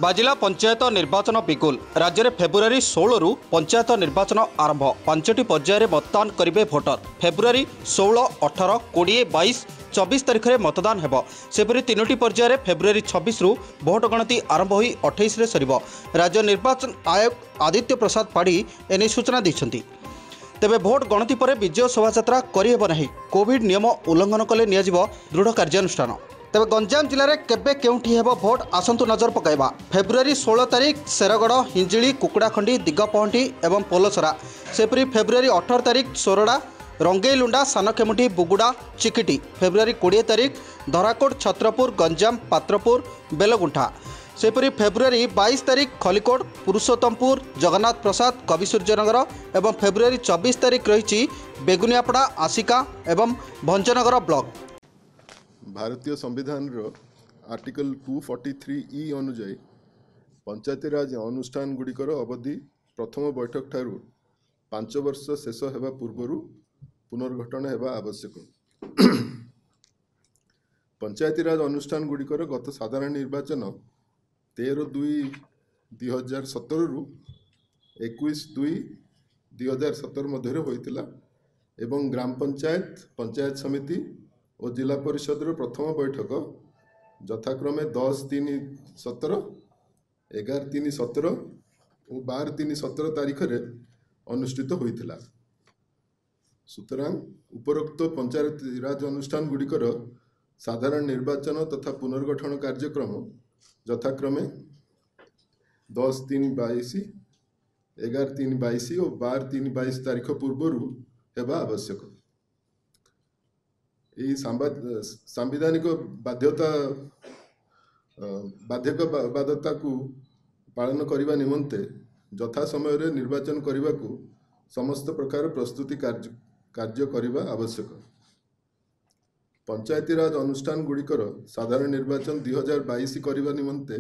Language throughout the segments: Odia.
ବାଜିଲା ପଞ୍ଚାୟତ ନିର୍ବାଚନ ବିଗୁଲ। ରାଜ୍ୟରେ ଫେବୃଆରୀ 16ରୁ ପଞ୍ଚାୟତ ନିର୍ବାଚନ ଆରମ୍ଭ। 5ଟି ପର୍ଯ୍ୟାୟରେ ମତଦାନ କରିବେ ଭୋଟର। ଫେବୃଆରୀ 16, 18, 20, 22, 24 ତାରିଖରେ ମତଦାନ ହେବ। ସେପରି 3ଟି ପର୍ଯ୍ୟାୟରେ ଫେବୃଆରୀ 26ରୁ ଭୋଟ ଗଣତି ଆରମ୍ଭ ହୋଇ 28ରେ ସରିବ। ରାଜ୍ୟ ନିର୍ବାଚନ ଆୟୋଗ ଆଦିତ୍ୟ ପ୍ରସାଦ ପାଢ଼ୀ ଏନେଇ ସୂଚନା ଦେଇଛନ୍ତି। ତେବେ ଭୋଟ ଗଣତି ପରେ ବିଜୟ ଶୋଭାଯାତ୍ରା କରିହେବ ନାହିଁ। କୋଭିଡ୍ ନିୟମ ଉଲ୍ଲଂଘନ କଲେ ନିଆଯିବ ଦୃଢ଼ କାର୍ଯ୍ୟାନୁଷ୍ଠାନ। ତେବେ ଗଞ୍ଜାମ ଜିଲ୍ଲାରେ କେବେ କେଉଁଠି ହେବ ଭୋଟ, ଆସନ୍ତୁ ନଜର ପକାଇବା। ଫେବୃଆରୀ 16 ତାରିଖ ଶେରଗଡ଼, ହିଞ୍ଜିଳି, କୁକୁଡ଼ାଖଣ୍ଡି, ଦିଗପହଣ୍ଡି ଏବଂ ପୋଲସରା। ସେପରି ଫେବୃଆରୀ 18 ତାରିଖ ସୋରଡ଼ା, ରଙ୍ଗେଇଲୁଣ୍ଡା, ସାନଖେମୁଣ୍ଡି, ବୁଗୁଡ଼ା, ଚିକିଟି। ଫେବୃଆରୀ 20 ତାରିଖ ଧରାକୋଟ, ଛତ୍ରପୁର, ଗଞ୍ଜାମ, ପାତ୍ରପୁର, ବେଲଗୁଣ୍ଠା। ସେହିପରି ଫେବୃଆରୀ 22 ତାରିଖ ଖଲିକୋଟ, ପୁରୁଷୋତ୍ତମପୁର, ଜଗନ୍ନାଥ ପ୍ରସାଦ, କବିସୂର୍ଯ୍ୟନଗର ଏବଂ ଫେବୃଆରୀ 24 ତାରିଖ ରହିଛି ବେଗୁନିଆପଡ଼ା, ଆସିକା ଏବଂ ଭଞ୍ଜନଗର ବ୍ଲକ। ଭାରତୀୟ ସମ୍ବିଧାନର ଆର୍ଟିକଲ 243 ଇ ଅନୁଯାୟୀ ପଞ୍ଚାୟତିରାଜ ଅନୁଷ୍ଠାନ ଗୁଡ଼ିକର ଅବଧି ପ୍ରଥମ ବୈଠକ ଠାରୁ 5 ବର୍ଷ ଶେଷ ହେବା ପୂର୍ବରୁ ପୁନର୍ଗଠନ ହେବା ଆବଶ୍ୟକ। ପଞ୍ଚାୟତିରାଜ ଅନୁଷ୍ଠାନ ଗୁଡ଼ିକର ଗତ ସାଧାରଣ ନିର୍ବାଚନ 13/2/2017ରୁ 21/2/2017 ମଧ୍ୟରେ ହୋଇଥିଲା ଏବଂ ଗ୍ରାମ ପଞ୍ଚାୟତ, ପଞ୍ଚାୟତ ସମିତି ଓ ଜିଲ୍ଲା ପରିଷଦର ପ୍ରଥମ ବୈଠକ ଯଥାକ୍ରମେ 10/3/17, 11/3/17 ଓ 12/3/17 ତାରିଖରେ ଅନୁଷ୍ଠିତ ହୋଇଥିଲା। ସୁତରାଂ ଉପରୋକ୍ତ ପଞ୍ଚାୟତିରାଜ ଅନୁଷ୍ଠାନ ଗୁଡ଼ିକର ସାଧାରଣ ନିର୍ବାଚନ ତଥା ପୁନର୍ଗଠନ କାର୍ଯ୍ୟକ୍ରମ ଯଥାକ୍ରମେ 10/3/22, 11/3/22 ଓ 12/3/22 ତାରିଖ ପୂର୍ବରୁ ହେବା ଆବଶ୍ୟକ। ଏହି ସାମ୍ବିଧାନିକ ବାଧ୍ୟତାକୁ ପାଳନ କରିବା ନିମନ୍ତେ ଯଥା ସମୟରେ ନିର୍ବାଚନ କରିବାକୁ ସମସ୍ତ ପ୍ରକାର ପ୍ରସ୍ତୁତି କାର୍ଯ୍ୟ କରିବା ଆବଶ୍ୟକ। ପଞ୍ଚାୟତିରାଜ ଅନୁଷ୍ଠାନ ଗୁଡ଼ିକର ସାଧାରଣ ନିର୍ବାଚନ 2022 କରିବା ନିମନ୍ତେ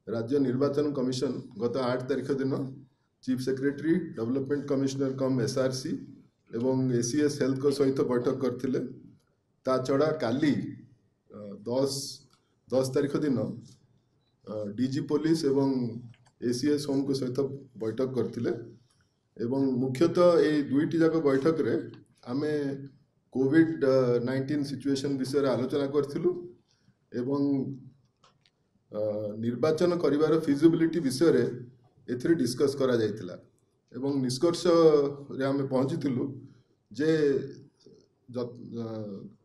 ରାଜ୍ୟ ନିର୍ବାଚନ କମିଶନ ଗତ 8 ତାରିଖ ଦିନ chief secretary, development commissioner cum SRC ଏବଂ ACS ହେଲ୍ଥଙ୍କ ସହିତ ବୈଠକ କରିଥିଲେ। ତା ଛଡ଼ା କାଲି 10 ତାରିଖ ଦିନ DG police ଏବଂ ACS ହୋମ୍ଙ୍କ ସହିତ ବୈଠକ କରିଥିଲେ ଏବଂ ମୁଖ୍ୟତଃ ଏଇ ଦୁଇଟି ଯାକ ବୈଠକରେ ଆମେ କୋଭିଡ଼-19 ସିଚୁଏସନ୍ ବିଷୟରେ ଆଲୋଚନା କରିଥିଲୁ ଏବଂ ନିର୍ବାଚନ କରିବାର ଫିଜିବିଲିଟି ବିଷୟରେ ଏଥିରେ ଡିସ୍କସ୍ କରାଯାଇଥିଲା ଏବଂ ନିଷ୍କର୍ଷରେ ଆମେ ପହଞ୍ଚିଥିଲୁ ଯେ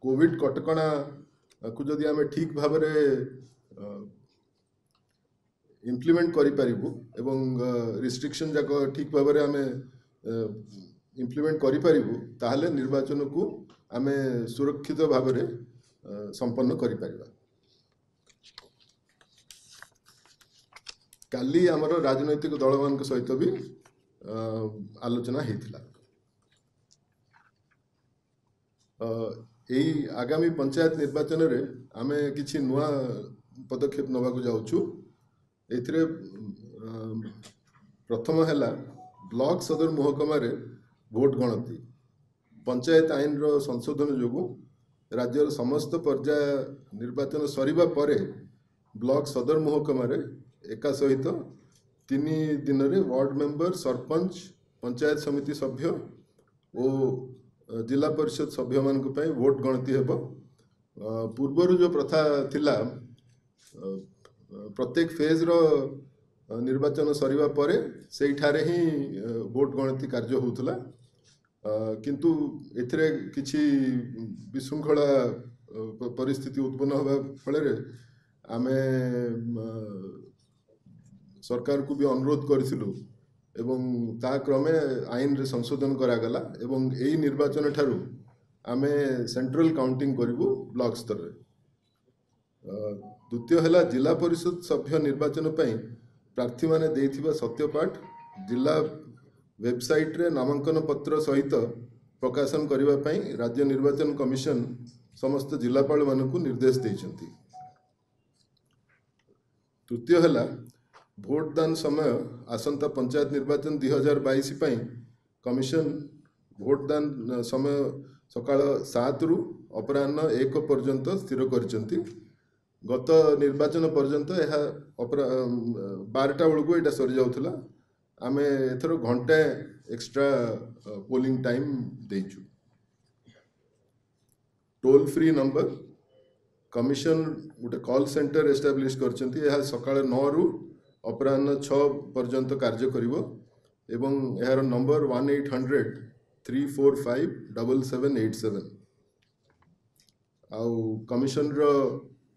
କୋଭିଡ଼ କଟକଣାକୁ ଯଦି ଆମେ ଠିକ୍ ଭାବରେ ଇମ୍ପ୍ଲିମେଣ୍ଟ କରିପାରିବୁ ଏବଂ ରିଷ୍ଟ୍ରିକ୍ସନ୍ ଯାକ ଠିକ୍ ଭାବରେ ଆମେ ଇମ୍ପ୍ଲିମେଣ୍ଟ କରିପାରିବୁ, ତାହେଲେ ନିର୍ବାଚନକୁ ଆମେ ସୁରକ୍ଷିତ ଭାବରେ ସମ୍ପନ୍ନ କରିପାରିବା। କାଲି ଆମର ରାଜନୈତିକ ଦଳମାନଙ୍କ ସହିତ ବି ଆଲୋଚନା ହେଇଥିଲା। ଏଇ ଆଗାମୀ ପଞ୍ଚାୟତ ନିର୍ବାଚନରେ ଆମେ କିଛି ନୂଆ ପଦକ୍ଷେପ ନେବାକୁ ଯାଉଛୁ। ଏଥିରେ ପ୍ରଥମ ହେଲା ବ୍ଲକ ସଦର ମହକୁମାରେ ଭୋଟ ଗଣତି। ପଞ୍ଚାୟତ ଆଇନର ସଂଶୋଧନ ଯୋଗୁଁ ରାଜ୍ୟର ସମସ୍ତ ପର୍ଯ୍ୟାୟ ନିର୍ବାଚନ ସରିବା ପରେ ବ୍ଲକ ସଦର ମହକୁମାରେ ଏକା ସହିତ 3 ଦିନରେ ୱାର୍ଡ ମେମ୍ବର, ସରପଞ୍ଚ, ପଞ୍ଚାୟତ ସମିତି ସଭ୍ୟ ଓ ଜିଲ୍ଲା ପରିଷଦ ସଭ୍ୟମାନଙ୍କ ପାଇଁ ଭୋଟ ଗଣତି ହେବ। ପୂର୍ବରୁ ଯେଉଁ ପ୍ରଥା ଥିଲା, ପ୍ରତ୍ୟେକ ଫେଜ୍ର ନିର୍ବାଚନ ସରିବା ପରେ ସେଇଠାରେ ହିଁ ଭୋଟ ଗଣତି କାର୍ଯ୍ୟ ହେଉଥିଲା, କିନ୍ତୁ ଏଥିରେ କିଛି ବିଶୃଙ୍ଖଳା ପରିସ୍ଥିତି ଉତ୍ପନ୍ନ ହେବା ଫଳରେ ଆମେ ସରକାରକୁ ବି ଅନୁରୋଧ କରିଥିଲୁ ଏବଂ ତା କ୍ରମେ ଆଇନରେ ସଂଶୋଧନ କରାଗଲା ଏବଂ ଏଇ ନିର୍ବାଚନ ଠାରୁ ଆମେ ସେଣ୍ଟ୍ରାଲ କାଉଣ୍ଟିଂ କରିବୁ ବ୍ଲକ ସ୍ତରରେ। ଦ୍ୱିତୀୟ ହେଲା ଜିଲ୍ଲା ପରିଷଦ ସଭ୍ୟ ନିର୍ବାଚନ ପାଇଁ ପ୍ରାର୍ଥୀମାନେ ଦେଇଥିବା ସତ୍ୟପାଠ ଜିଲ୍ଲା ୱେବସାଇଟ୍ରେ ନାମାଙ୍କନ ପତ୍ର ସହିତ ପ୍ରକାଶନ କରିବା ପାଇଁ ରାଜ୍ୟ ନିର୍ବାଚନ କମିଶନ ସମସ୍ତ ଜିଲ୍ଲାପାଳମାନଙ୍କୁ ନିର୍ଦ୍ଦେଶ ଦେଇଛନ୍ତି। ତୃତୀୟ ହେଲା ଭୋଟଦାନ ସମୟ ଆସନ୍ତା ପଞ୍ଚାୟତ ନିର୍ବାଚନ 2022 ପାଇଁ କମିଶନ ଭୋଟଦାନ ସମୟ ସକାଳ 7ରୁ ଅପରାହ୍ନ 1 ପର୍ଯ୍ୟନ୍ତ ସ୍ଥିର କରିଛନ୍ତି। ଗତ ନିର୍ବାଚନ ପର୍ଯ୍ୟନ୍ତ ଏହା 12ଟା ବେଳକୁ ଏଇଟା ସରିଯାଉଥିଲା। ଆମେ ଏଥର ଘଣ୍ଟାଏ ଏକ୍ସଟ୍ରା ପୋଲିଂ ଟାଇମ୍ ଦେଇଛୁ। ଟୋଲ୍ ଫ୍ରି ନମ୍ବର, କମିଶନ ଗୋଟେ କଲ୍ ସେଣ୍ଟର ଏଷ୍ଟାବ୍ଲିଶ କରିଛନ୍ତି। ଏହା ସକାଳ 9ରୁ ଅପରାହ୍ନ 6 ପର୍ଯ୍ୟନ୍ତ କାର୍ଯ୍ୟ କରିବ ଏବଂ ଏହାର ନମ୍ବର 1800 345 7787। ଆଉ କମିଶନର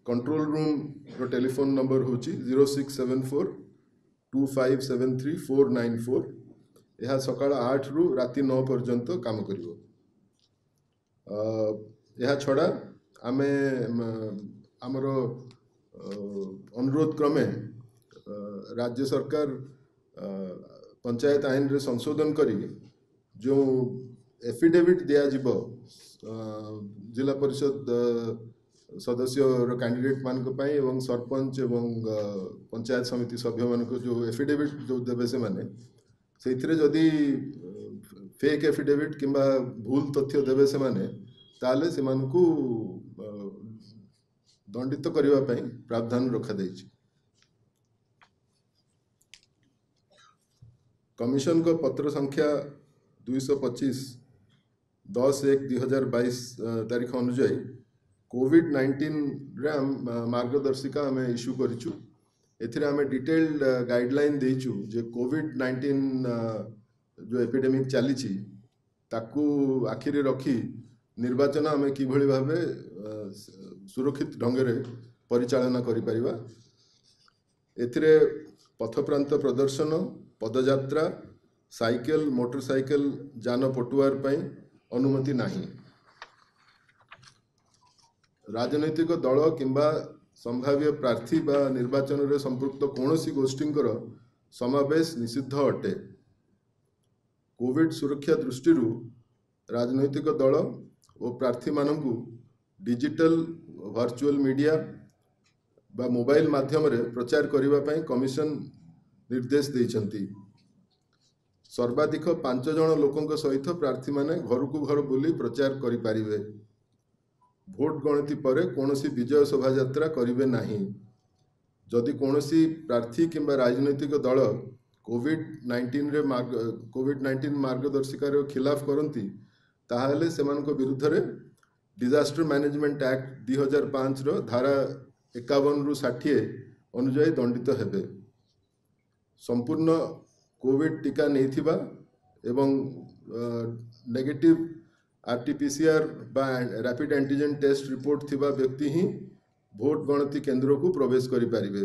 କଣ୍ଟ୍ରୋଲ ରୁମ୍ର ଟେଲିଫୋନ୍ ନମ୍ବର ହେଉଛି 06742573494। ଏହା ସକାଳ 8ରୁ ରାତି 9 ପର୍ଯ୍ୟନ୍ତ କାମ କରିବ। ଏହା ଛଡ଼ା ଆମେ ଆମର ଅନୁରୋଧ କ୍ରମେ ରାଜ୍ୟ ସରକାର ପଞ୍ଚାୟତ ଆଇନରେ ସଂଶୋଧନ କରି ଯେଉଁ ଏଫିଡେଭିଟ୍ ଦିଆଯିବ ଜିଲ୍ଲା ପରିଷଦ ସଦସ୍ୟର କ୍ୟାଣ୍ଡିଡେଟ୍ ମାନଙ୍କ ପାଇଁ ଏବଂ ସରପଞ୍ଚ ଏବଂ ପଞ୍ଚାୟତ ସମିତି ସଭ୍ୟମାନଙ୍କୁ ଯେଉଁ ଏଫିଡେଭିଟ୍ ଯେଉଁ ଦେବେ ସେମାନେ, ସେଇଥିରେ ଯଦି ଫେକ୍ ଏଫିଡେଭିଟ୍ କିମ୍ବା ଭୁଲ ତଥ୍ୟ ଦେବେ ସେମାନେ, ତାହେଲେ ସେମାନଙ୍କୁ ଦଣ୍ଡିତ କରିବା ପାଇଁ ପ୍ରାବଧାନ ରଖାଯାଇଛି। କମିଶନଙ୍କ ପତ୍ର ସଂଖ୍ୟା 225, 10/1/2022 ତାରିଖ ଅନୁଯାୟୀ କୋଭିଡ଼-19ରେ ମାର୍ଗଦର୍ଶିକା ଆମେ ଇସ୍ୟୁ କରିଛୁ। ଏଥିରେ ଆମେ ଡିଟେଲ୍ଡ ଗାଇଡ଼ଲାଇନ୍ ଦେଇଛୁ ଯେ କୋଭିଡ଼-19 ଯେଉଁ ଏପିଡେମିକ୍ ଚାଲିଛି, ତାକୁ ଆଖିରେ ରଖି ନିର୍ବାଚନ ଆମେ କିଭଳି ଭାବେ ସୁରକ୍ଷିତ ଢଙ୍ଗରେ ପରିଚାଳନା କରିପାରିବା। ଏଥିରେ ପଥପ୍ରାନ୍ତ ପ୍ରଦର୍ଶନ, ପଦଯାତ୍ରା, ସାଇକେଲ, ମୋଟରସାଇକେଲ ଯାନ ପଟୁଆର ପାଇଁ ଅନୁମତି ନାହିଁ। ରାଜନୈତିକ ଦଳ କିମ୍ବା ସମ୍ଭାବ୍ୟ ପ୍ରାର୍ଥୀ ବା ନିର୍ବାଚନରେ ସମ୍ପୃକ୍ତ କୌଣସି ଗୋଷ୍ଠୀଙ୍କର ସମାବେଶ ନିଷିଦ୍ଧ ଅଟେ। କୋଭିଡ ସୁରକ୍ଷା ଦୃଷ୍ଟିରୁ ରାଜନୈତିକ ଦଳ ଓ ପ୍ରାର୍ଥୀମାନଙ୍କୁ ଡିଜିଟାଲ, ଭର୍ଚୁଆଲ ମିଡ଼ିଆ ବା ମୋବାଇଲ ମାଧ୍ୟମରେ ପ୍ରଚାର କରିବା ପାଇଁ କମିଶନ ନିର୍ଦ୍ଦେଶ ଦେଇଛନ୍ତି। ସର୍ବାଧିକ 5 ଜଣ ଲୋକଙ୍କ ସହିତ ପ୍ରାର୍ଥୀମାନେ ଘରକୁ ଘର ବୁଲି ପ୍ରଚାର କରିପାରିବେ। ଭୋଟ ଗଣତି ପରେ କୌଣସି ବିଜୟ ଶୋଭାଯାତ୍ରା କରିବେ ନାହିଁ। ଯଦି କୌଣସି ପ୍ରାର୍ଥୀ କିମ୍ବା ରାଜନୈତିକ ଦଳ କୋଭିଡ଼-19 ମାର୍ଗଦର୍ଶିକାର ଖିଲାଫ କରନ୍ତି, ତାହେଲେ ସେମାନଙ୍କ ବିରୁଦ୍ଧରେ ଡିଜାଷ୍ଟର ମ୍ୟାନେଜମେଣ୍ଟ ଆକ୍ଟ 2005ର ଧାରା 51ରୁ 60 ଅନୁଯାୟୀ ଦଣ୍ଡିତ ହେବେ। ସମ୍ପୂର୍ଣ୍ଣ କୋଭିଡ଼ ଟିକା ନେଇଥିବା ଏବଂ ନେଗେଟିଭ ଆରଟିପିସିଆର ବା ରାପିଡ୍ ଆଣ୍ଟିଜେନ୍ ଟେଷ୍ଟ ରିପୋର୍ଟ ଥିବା ବ୍ୟକ୍ତି ହିଁ ଭୋଟ ଗଣତି କେନ୍ଦ୍ରକୁ ପ୍ରବେଶ କରିପାରିବେ।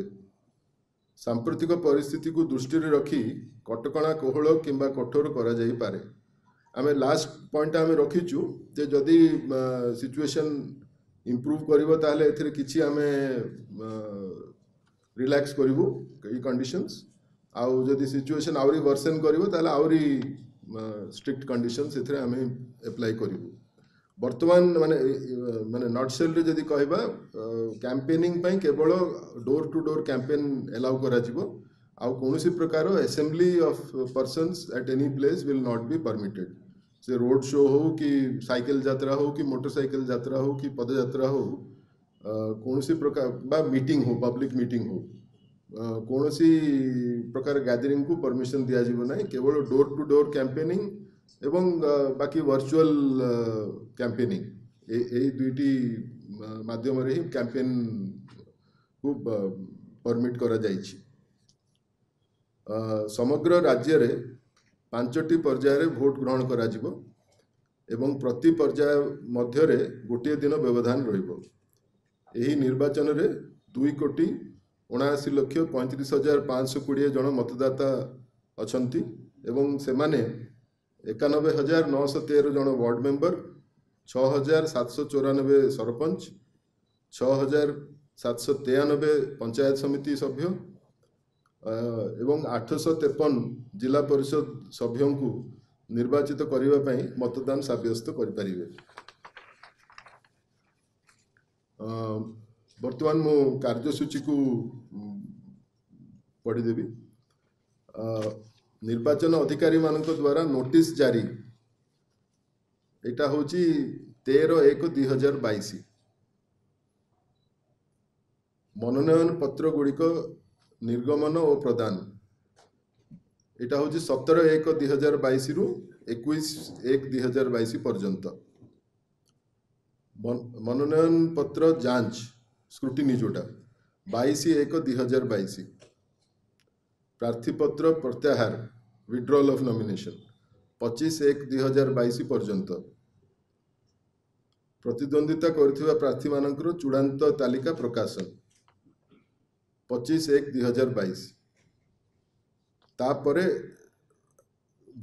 ସାମ୍ପ୍ରତିକ ପରିସ୍ଥିତିକୁ ଦୃଷ୍ଟିରେ ରଖି କଟକଣା କୋହଳ କିମ୍ବା କଠୋର କରାଯାଇପାରେ। ଆମେ ଲାଷ୍ଟ ପଏଣ୍ଟ ଆମେ ରଖିଛୁ ଯେ ଯଦି ସିଚୁଏସନ୍ ଇମ୍ପ୍ରୁଭ୍ କରିବ, ତାହେଲେ ଏଥିରେ କିଛି ଆମେ ରିଲାକ୍ସ କରିବୁ ଏଇ କଣ୍ଡିସନ୍ସ। ଆଉ ଯଦି ସିଚୁଏସନ୍ ଆହୁରି ୱର୍ସେନ୍ କରିବ, ତାହେଲେ ଆହୁରି ଷ୍ଟ୍ରିକ୍ଟ କଣ୍ଡିସନ୍ସ ଏଥିରେ ଆମେ ଆପ୍ଲାଏ କରିବୁ। ବର୍ତ୍ତମାନ ମାନେ ନଟସେଲ୍ରେ ଯଦି କହିବା, କ୍ୟାମ୍ପେନିଂ ପାଇଁ କେବଳ door to door campaign allow କରାଯିବ। ଆଉ କୌଣସି ପ୍ରକାର assembly of persons at any place will not be permitted। ସେ ରୋଡ୍ ଶୋ ହଉ କି ସାଇକେଲ ଯାତ୍ରା ହଉ କି ମୋଟରସାଇକେଲ ଯାତ୍ରା ହଉ କି ପଦଯାତ୍ରା ହଉ, କୌଣସି ପ୍ରକାର ବା ମିଟିଂ ହଉ, ପବ୍ଲିକ ମିଟିଂ ହଉ, କୌଣସି ପ୍ରକାର ଗ୍ୟାଦରିଂକୁ ପରମିସନ୍ ଦିଆଯିବ ନାହିଁ। କେବଳ ଡୋର୍ ଟୁ ଡୋର୍ କ୍ୟାମ୍ପେନିଂ ଏବଂ ବାକି ଭର୍ଚୁଆଲ କ୍ୟାମ୍ପେନିଂ, ଏଇ ଦୁଇଟି ମାଧ୍ୟମରେ ହିଁ କ୍ୟାମ୍ପେନ୍କୁ ପରମିଟ୍ କରାଯାଇଛି। ସମଗ୍ର ରାଜ୍ୟରେ ପାଞ୍ଚଟି ପର୍ଯ୍ୟାୟରେ ଭୋଟ ଗ୍ରହଣ କରାଯିବ ଏବଂ ପ୍ରତି ପର୍ଯ୍ୟାୟ ମଧ୍ୟରେ ଗୋଟିଏ ଦିନ ବ୍ୟବଧାନ ରହିବ। ଏହି ନିର୍ବାଚନରେ 2,79,35,520 ଜଣ ମତଦାତା ଅଛନ୍ତି ଏବଂ ସେମାନେ 91,913 ଜଣ ୱାର୍ଡ ମେମ୍ବର, 6794 ସରପଞ୍ଚ, 6793 ପଞ୍ଚାୟତ ସମିତି ସଭ୍ୟ ଏବଂ 853 ଜିଲ୍ଲା ପରିଷଦ ସଭ୍ୟଙ୍କୁ ନିର୍ବାଚିତ କରିବା ପାଇଁ ମତଦାନ ସାବ୍ୟସ୍ତ କରିପାରିବେ। ବର୍ତ୍ତମାନ ମୁଁ କାର୍ଯ୍ୟସୂଚୀକୁ ପଢ଼ିଦେବି। ନିର୍ବାଚନ ଅଧିକାରୀମାନଙ୍କ ଦ୍ୱାରା ନୋଟିସ୍ ଜାରି, ଏଇଟା ହେଉଛି 13/1/2022। ମନୋନୟନ ପତ୍ର ଗୁଡ଼ିକ ନିର୍ଗମନ ଓ ପ୍ରଦାନ, ଏଇଟା ହେଉଛି 17/1/2022ରୁ 21/1/2022 ପର୍ଯ୍ୟନ୍ତ। ମନୋନୟନ ପତ୍ର ଯାଞ୍ଚ ସ୍କ୍ରୁଟିନି ଯେଉଁଟା 22/1/2022। ପ୍ରାର୍ଥୀପତ୍ର ପ୍ରତ୍ୟାହାର ୱିଡ୍ରଲ୍ ଅଫ୍ ନମିନେସନ୍ 25/1/2022 ପର୍ଯ୍ୟନ୍ତ। ପ୍ରତିଦ୍ୱନ୍ଦିତା କରୁଥିବା ପ୍ରାର୍ଥୀମାନଙ୍କର ଚୂଡ଼ାନ୍ତ ତାଲିକା ପ୍ରକାଶନ 25/1/2022। ତାପରେ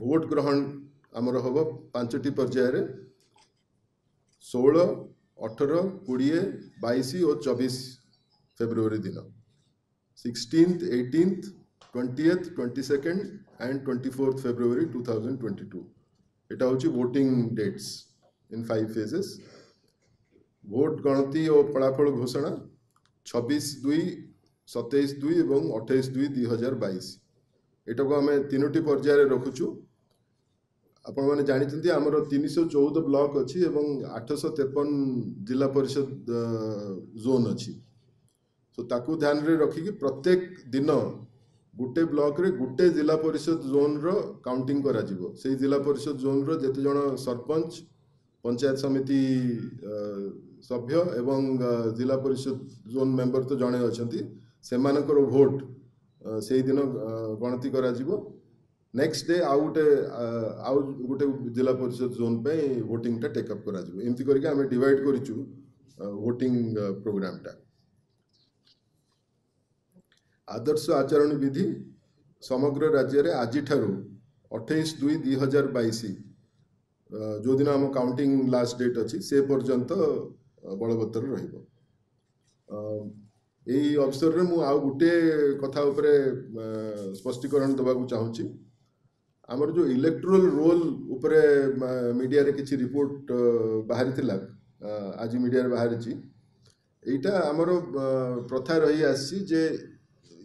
ଭୋଟ ଗ୍ରହଣ ଆମର ହେବ 5ଟି ପର୍ଯ୍ୟାୟରେ, 16, 18, 20, 22 ଓ 24 ଫେବୃଆରୀ ଦିନ। 16th, 18th, 20th, 22nd and 24th February 2022। ଏଇଟା ହେଉଛି voting dates in 5 phases. Vote ଗଣତି ଓ ଫଳାଫଳ ଘୋଷଣା 26/2, 27/2 ଏବଂ 28/2/2022। ଏଟାକୁ ଆମେ 3ଟି ପର୍ଯ୍ୟାୟରେ ରଖୁଛୁ। ଆପଣମାନେ ଜାଣିଛନ୍ତି ଆମର 314 ବ୍ଲକ ଅଛି ଏବଂ 853 ଜିଲ୍ଲା ପରିଷଦ ଜୋନ୍ ଅଛି। ତ ତାକୁ ଧ୍ୟାନରେ ରଖିକି ପ୍ରତ୍ୟେକ ଦିନ ଗୋଟେ ବ୍ଲକରେ ଗୋଟେ ଜିଲ୍ଲା ପରିଷଦ ଜୋନ୍ର କାଉଣ୍ଟିଂ କରାଯିବ। ସେଇ ଜିଲ୍ଲା ପରିଷଦ ଜୋନ୍ର ଯେତେ ଜଣ ସରପଞ୍ଚ, ପଞ୍ଚାୟତ ସମିତି ସଭ୍ୟ ଏବଂ ଜିଲ୍ଲା ପରିଷଦ ଜୋନ୍ ମେମ୍ବର ତ ଜଣେ ଅଛନ୍ତି, ସେମାନଙ୍କର ଭୋଟ ସେଇଦିନ ଗଣତି କରାଯିବ। ନେକ୍ସଟ ଡେ ଆଉ ଗୋଟେ ଜିଲ୍ଲା ପରିଷଦ ଜୋନ୍ ପାଇଁ ଭୋଟିଂଟା ଟେକଅପ୍ କରାଯିବ। ଏମିତି କରିକି ଆମେ ଡିଭାଇଡ଼ କରିଛୁ ଭୋଟିଂ ପ୍ରୋଗ୍ରାମଟା। ଆଦର୍ଶ ଆଚରଣ ବିଧି ସମଗ୍ର ରାଜ୍ୟରେ ଆଜିଠାରୁ 28/2/2022 ଯେଉଁଦିନ ଆମ କାଉଣ୍ଟିଂ ଲାଷ୍ଟ ଡେଟ୍ ଅଛି ସେ ପର୍ଯ୍ୟନ୍ତ ବଳବତ୍ତର ରହିବ। ଏଇ ଅବସରରେ ମୁଁ ଆଉ ଗୋଟିଏ କଥା ଉପରେ ସ୍ପଷ୍ଟୀକରଣ ଦେବାକୁ ଚାହୁଁଛି। ଆମର ଯେଉଁ ଇଲେକ୍ଟ୍ରୋଲ ରୋଲ୍ ଉପରେ ମିଡ଼ିଆରେ କିଛି ରିପୋର୍ଟ ବାହାରିଥିଲା, ଆଜି ମିଡ଼ିଆରେ ବାହାରିଛି। ଏଇଟା ଆମର ପ୍ରଥା ରହି ଆସିଛି ଯେ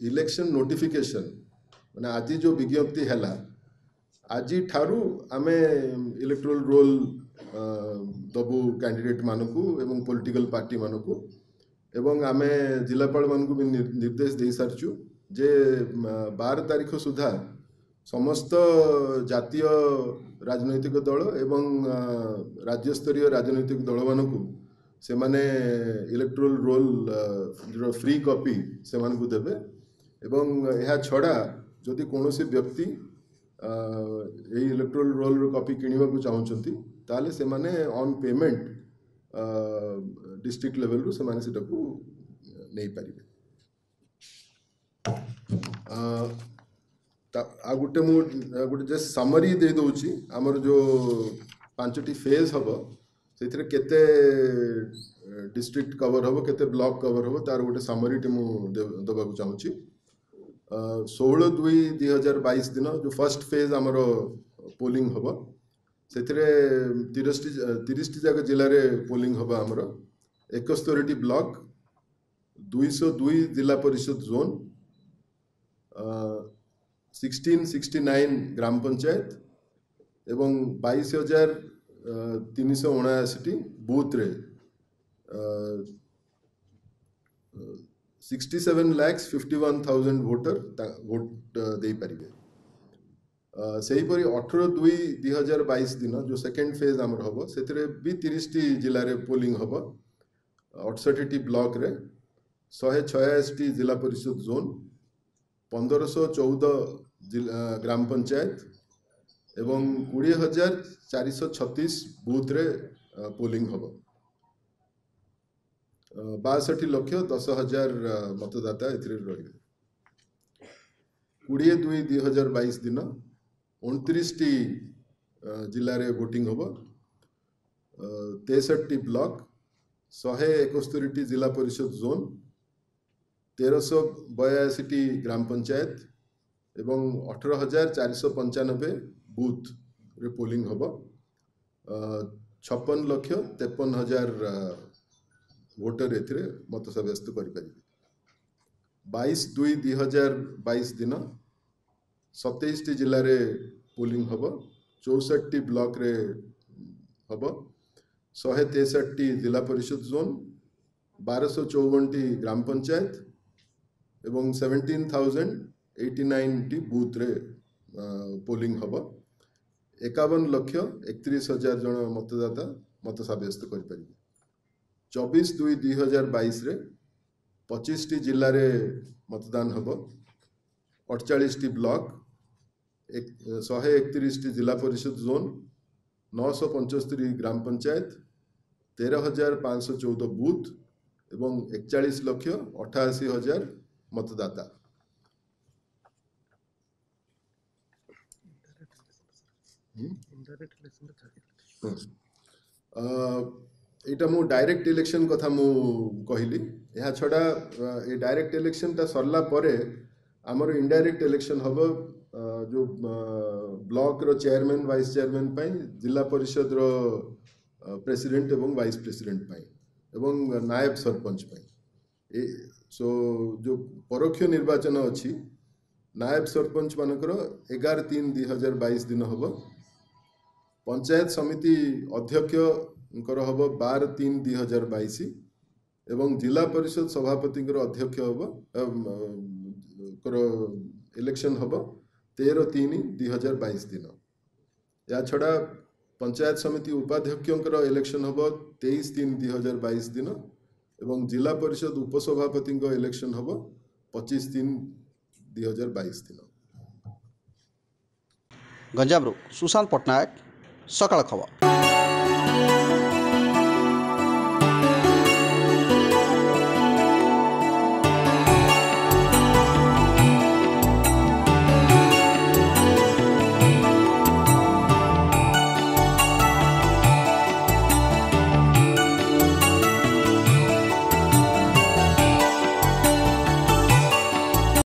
ଇଲେକ୍ସନ୍ ନୋଟିଫିକେସନ୍ ମାନେ ଆଜି ଯେଉଁ ବିଜ୍ଞପ୍ତି ହେଲା ଆଜିଠାରୁ ଆମେ ଇଲେକ୍ଟ୍ରୋଲ ରୋଲ୍ ଦେବୁ କ୍ୟାଣ୍ଡିଡେଟ୍ ମାନଙ୍କୁ ଏବଂ ପଲିଟିକାଲ ପାର୍ଟି ମାନଙ୍କୁ, ଏବଂ ଆମେ ଜିଲ୍ଲାପାଳମାନଙ୍କୁ ବି ନିର୍ଦ୍ଦେଶ ଦେଇସାରିଛୁ ଯେ 12 ତାରିଖ ସୁଦ୍ଧା ସମସ୍ତ ଜାତୀୟ ରାଜନୈତିକ ଦଳ ଏବଂ ରାଜ୍ୟସ୍ତରୀୟ ରାଜନୈତିକ ଦଳମାନଙ୍କୁ ସେମାନେ ଇଲେକ୍ଟ୍ରୋଲ ରୋଲ୍ ଫ୍ରି କପି ସେମାନଙ୍କୁ ଦେବେ। ଏବଂ ଏହା ଛଡ଼ା ଯଦି କୌଣସି ବ୍ୟକ୍ତି ଏଇ ଇଲେକ୍ଟ୍ରୋଲ ରୋଲ୍ର କପି କିଣିବାକୁ ଚାହୁଁଛନ୍ତି ତାହେଲେ ସେମାନେ ଅନ୍ ପେମେଣ୍ଟ ଡିଷ୍ଟ୍ରିକ୍ଟ ଲେଭେଲରୁ ସେମାନେ ସେଟାକୁ ନେଇପାରିବେ। ଆଉ ଗୋଟେ ମୁଁ ଗୋଟେ ଜଷ୍ଟ ସମରି ଦେଇଦେଉଛି। ଆମର ଯେଉଁ 5ଟି ଫେଜ୍ ହେବ ସେଥିରେ କେତେ ଡିଷ୍ଟ୍ରିକ୍ଟ କଭର ହେବ, କେତେ ବ୍ଲକ କଭର ହେବ, ତାର ଗୋଟେ ସମରିଟି ମୁଁ ଦେବାକୁ ଚାହୁଁଛି। 16/2/2022 ଦିନ ଯେଉଁ ଫାର୍ଷ୍ଟ ଫେଜ୍ ଆମର ପୋଲିଂ ହେବ ସେଥିରେ 30ଟି ଯାକ ଜିଲ୍ଲାରେ ପୋଲିଂ ହେବ ଆମର। 71ଟି ବ୍ଲକ, 202 ଜିଲ୍ଲା ପରିଷଦ ଜୋନ୍, 1669 ଗ୍ରାମ ପଞ୍ଚାୟତ ଏବଂ 22,379ଟି ବୁଥରେ 67,51,000 ଭୋଟର ଭୋଟ ଦେଇପାରିବେ। ସେହିପରି 18/2/2022 ଦିନ ଯେଉଁ ସେକେଣ୍ଡ ଫେଜ୍ ଆମର ହେବ ସେଥିରେ ବି 30ଟି ଜିଲ୍ଲାରେ ପୋଲିଂ ହେବ, 68ଟି ବ୍ଲକରେ, 186ଟି ଜିଲ୍ଲା ପରିଷଦ ଜୋନ୍, 1514 ଗ୍ରାମ ପଞ୍ଚାୟତ ଏବଂ 20,436 ବୁଥରେ ପୋଲିଂ ହେବ। 62,10,000 ମତଦାତା ଏଥିରେ ରହିବେ। 20/2/2022 ଦିନ 29ଟି ଜିଲ୍ଲାରେ ଭୋଟିଂ ହେବ, 63ଟି ବ୍ଲକ, 171ଟି ଜିଲ୍ଲା ପରିଷଦ ଜୋନ୍, 1382ଟି ଗ୍ରାମ ପଞ୍ଚାୟତ ଏବଂ 18,495 ବୁଥରେ ପୋଲିଂ ହେବ। 56,53,000 ଭୋଟର ଏଥିରେ ମତ ସାବ୍ୟସ୍ତ କରିପାରିବେ। 22/2/2022 ଦିନ 27ଟି ଜିଲ୍ଲାରେ ପୋଲିଂ ହେବ, 64ଟି ବ୍ଲକରେ ହେବ, 163ଟି ଜିଲ୍ଲା ପରିଷଦ ଜୋନ୍, 1254ଟି ଗ୍ରାମ ପଞ୍ଚାୟତ ଏବଂ 17,089ଟି ବୁଥରେ ପୋଲିଂ ହେବ। 51,31,000 ଜଣ ମତଦାତା ମତ ସାବ୍ୟସ୍ତ କରିପାରିବେ। 24/2/2022ରେ 25ଟି ଜିଲ୍ଲାରେ ମତଦାନ ହେବ। 48ଟି ବ୍ଲକ, 131ଟି ଜିଲ୍ଲା ପରିଷଦ ଜୋନ୍, 975 ଗ୍ରାମ ପଞ୍ଚାୟତ, 13,514 ବୁଥ୍ ଏବଂ 41,88,000 ମତଦାତା। ଏଇଟା ମୁଁ ଡାଇରେକ୍ଟ ଇଲେକ୍ସନ୍ କଥା ମୁଁ କହିଲି। ଏହା ଛଡ଼ା ଏ ଡାଇରେକ୍ଟ ଇଲେକ୍ସନ୍ଟା ସରିଲା ପରେ ଆମର ଇନଡାଇରେକ୍ଟ ଇଲେକ୍ସନ୍ ହେବ, ଯେଉଁ ବ୍ଲକର ଚେୟାରମ୍ୟାନ୍, ଭାଇସ୍ ଚେୟାରମ୍ୟାନ୍ ପାଇଁ, ଜିଲ୍ଲା ପରିଷଦର ପ୍ରେସିଡେଣ୍ଟ ଏବଂ ଭାଇସ୍ ପ୍ରେସିଡେଣ୍ଟ ପାଇଁ ଏବଂ ନାୟବ ସରପଞ୍ଚ ପାଇଁ। ଏ ସୋ ଯେଉଁ ପରୋକ୍ଷ ନିର୍ବାଚନ ଅଛି, ନାୟବ ସରପଞ୍ଚ ମାନଙ୍କର 11/3/2022 ଦିନ ହେବ, ପଞ୍ଚାୟତ ସମିତି ଅଧ୍ୟକ୍ଷଙ୍କର ହେବ 12/3/2022 ଏବଂ ଜିଲ୍ଲା ପରିଷଦ ସଭାପତିଙ୍କର ଅଧ୍ୟକ୍ଷ ହେବ ଙ୍କର ଇଲେକ୍ସନ୍ ହେବ 13/3/2022 ଦିନ। ଏହା ଛଡ଼ା ପଞ୍ଚାୟତ ସମିତି ଉପାଧ୍ୟକ୍ଷଙ୍କର ଇଲେକ୍ସନ୍ ହେବ 23/3/2022 ଦିନ ଏବଂ ଜିଲ୍ଲା ପରିଷଦ ଉପସଭାପତିଙ୍କ ଇଲେକ୍ସନ୍ ହେବ 25/3/2022 ଦିନ। ଗଞ୍ଜାମରୁ ସୁଶାନ୍ତ ପଟ୍ଟନାୟକ, ସକାଳ ଖବର।